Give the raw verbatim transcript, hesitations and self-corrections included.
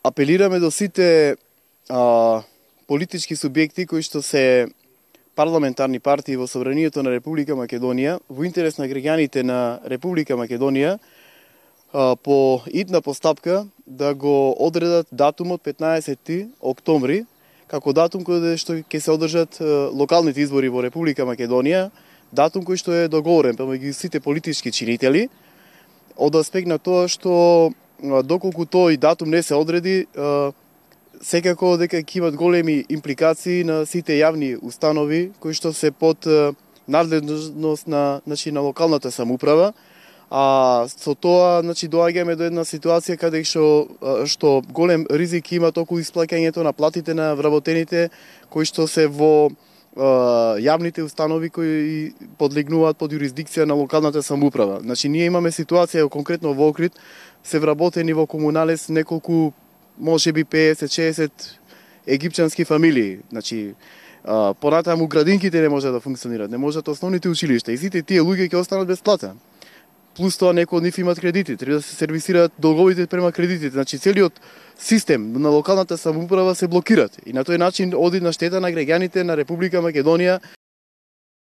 Апелираме до сите а, политички субјекти кои што се парламентарни партии во Собранието на Република Македонија, во интерес на граѓаните на Република Македонија, а, по идна постапка да го одредат датумот петнаесети октомври, како датум кој што ќе се одржат а, локалните избори во Република Македонија, датум кој што е договорен помеѓу сите политички чинители, од аспект на тоа што доколку тој датум не се одреди, секако дека ќе имат големи импликации на сите јавни установи кои што се под надлежност на, значи, на локалната самоуправа, а со тоа, значи, доаѓаме до една ситуација каде што, што голем ризик има околу исплаќањето на платите на вработените кои што се во јавните установи кои подлегнуваат под юрисдикција на локалната самоуправа. Значи, ние имаме ситуација конкретно во Охрид, се вработени во Комуналес неколку, можеби песет-шеесет египчански фамилии. Значи, понатаму градинките не може да функционираат, не можат основните училишта и сите тие луѓе ќе останат без плата. Плюс тоа некои од нив имат кредити, треба да се сервисираат долговите према кредитите. Значи, целиот систем на локалната самоуправа се блокираат и на тој начин оди на штета на граѓаните на Република Македонија